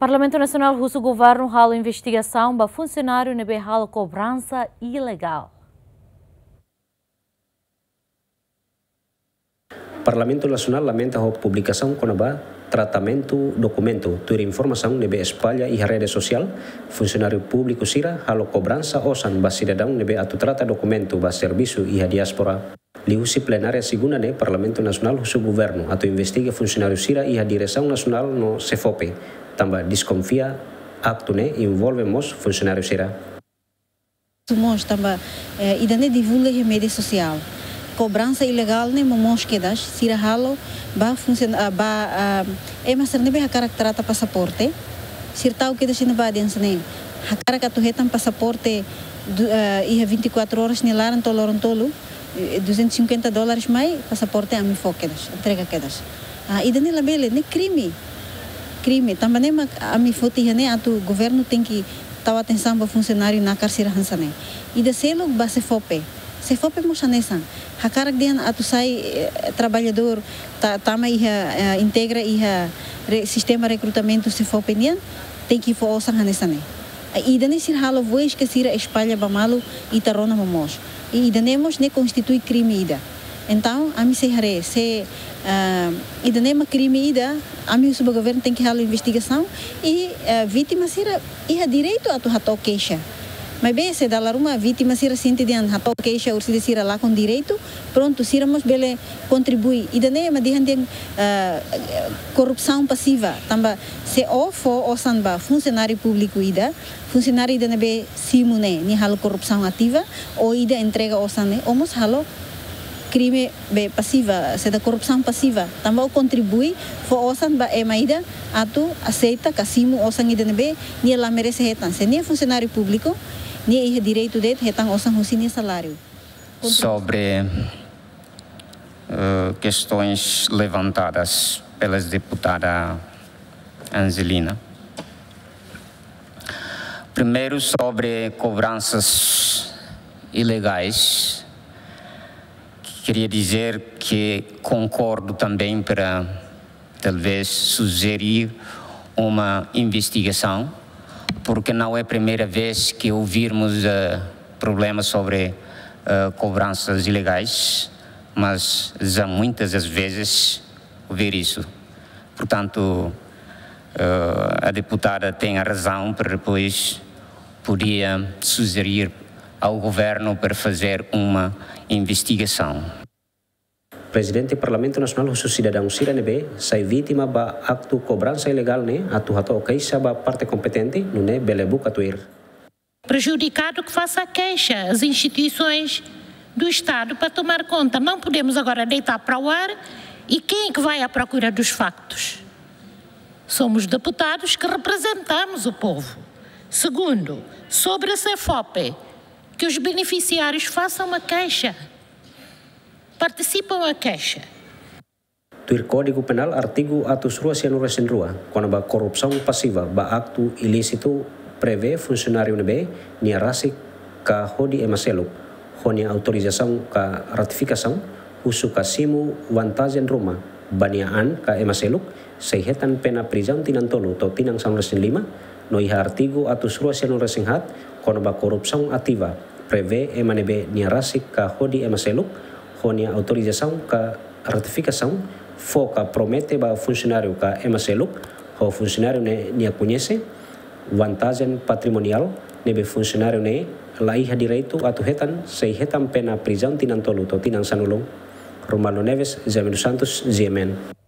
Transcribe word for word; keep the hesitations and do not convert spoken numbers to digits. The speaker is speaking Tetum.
Parlamentu Nasionál husu governu halo investigasaun ba funsionáriu ne'ebé halo kobransa ilegál. Parlamentu Nasionál lamenta ho publikasaun kona-ba tratamentu dokumentu tuir informasaun ne'ebé espalla iha rede sosiál, funsionáriu públiku sira halo kobransa osan ba sidadaun ne'ebé atu trata dokumentu ba servisu iha diáspora. Liuhusi plenária segunda ne'e, Parlamentu Nasionál husu governu atu investiga funsionáriu sira iha Diresaun Nasionál no SEFOPE, tanba deskonfia aktu ne'e envolve mós funsionáriu sira. Husu mós tanba, eh, ida-ne'e divulga iha média sosiál. Kobransa ilegál ne'e momoos kedas, sira halo ba funsion-, ah, ba, ah, ema sira ne'ebé hakarak trata pasaporte. Sira tau kedas iha ne'ebá dehan hanesan ne'e: hakarak atu hetan pasaporte du-, ah, iha vinte e quatro horas nia laran to'o loron tolu, eh, duzentos e cinquenta dólares mai, pasaporte ami fó kedas, entrega kedas. Ah, ida-ne'e labele, ne'e krime. Krime. Tanba ne'e mak ami foti iha ne'e atu governu tenke tau atensaun ba funsionáriu nakar sira hanesan ne'e. Ida seluk ba SEFOPE. SEFOPE mós hanesan. Hakarak dehan atu sai, eh, traballadór ta-, tama iha, eh, integra iha re-, sistema rekrutamentu SEFOPE nian, tenke fó osan hanesan ne'e. Ida-ne'e sira halo voz ke sira espalla ba malu, ita rona momoos. I ida-ne'e mós ne'e konstitui krime ida. Entaun, ami sei haree, se, ah, ida-ne'e mak krime ida, ami husu ba governu tenke halo investigasaun i, eh, vítima sira iha direitu atu hato'o keixa. Maibé se dala ruma vítima sira sente dehan hato'o keixa orsida sira lakon direitu, prontu, sira mós bele kontribui. Ida-ne'e mak dehan dehan, eh, korrupsaun pasiva. Tanba se ó fó osan ba funsionáriu públiku ida, funsionáriu ida ne'ebé simu ne'e, nia halo korrupsaun ativa, ó ida entrega osan ne'e, ó mós halo krime be pasiva, se da korrupsaun pasiva. Tanba ó kontribui, fó osan ba ema ida atu aseita ka simu osan ida ne'ebé nia la merese hetan. Se nia funsionáriu públiku, nia iha direitu de'it hetan osan husi nia saláriu. Sobre, eh, questões levantadas pelas deputada Angelina. Primeiro, sobre cobranças ilegais, queria dizer que concordo também para talvez sugerir uma investigação, porque não é a primeira vez que ouvirmos, eh, problemas sobre, eh, cobranças ilegais, mas já muitas as vezes ouvir isso. Portanto, eh, a deputada tem a razão para depois podia sugerir ao governo para fazer uma investigação. Prezidente Parlamentu Nasionál husu sidadaun sira ne'ebé sai vítima ba aktu kobransa ilegál ne'e atu hato'o keixa ba parte kompetente, nune'e bele buka tuir. Prejudicado que faça queixa às instituições do Estado para tomar conta. Não podemos agora deitar para o ar e quem é que vai à procura dos factos? Somos deputados que representamos o povo. Segundo, sobre a SEFOPE, que os beneficiários façam uma queixa. Participam a queixa. Tuir Kódigu Penál artigu atus rua sianulu resin rua, kona-ba korrupsaun pasiva ba aktu ilísitu, prevee funsionáriu ne'ebé nia rasik ka hodi ema seluk, ho nia autorizasaun ka ratifikasaun, husu ka simu vantajen ruma ba nia an ka ema seluk, sei hetan pena prizaun tinan tolu to'o tinan sanulu resin lima, no iha artigu atus rua sianulu resin haat, kona-ba korrupsaun ativa, prevee ema ne'ebé nia rasik ka hodi ema seluk, ho nia autorizasaun ka ratifikasaun, fó ka promete ba funsionáriu ka ema seluk, ho funsionáriu ne'e nia koñese vantajen patrimoniál ne'ebé funsionáriu ne'e la iha direitu atu hetan, sei hetan pena prizaun tinan tolu to'o tinan sanulu. Romualdo Neves, Jamil Santos, G M N.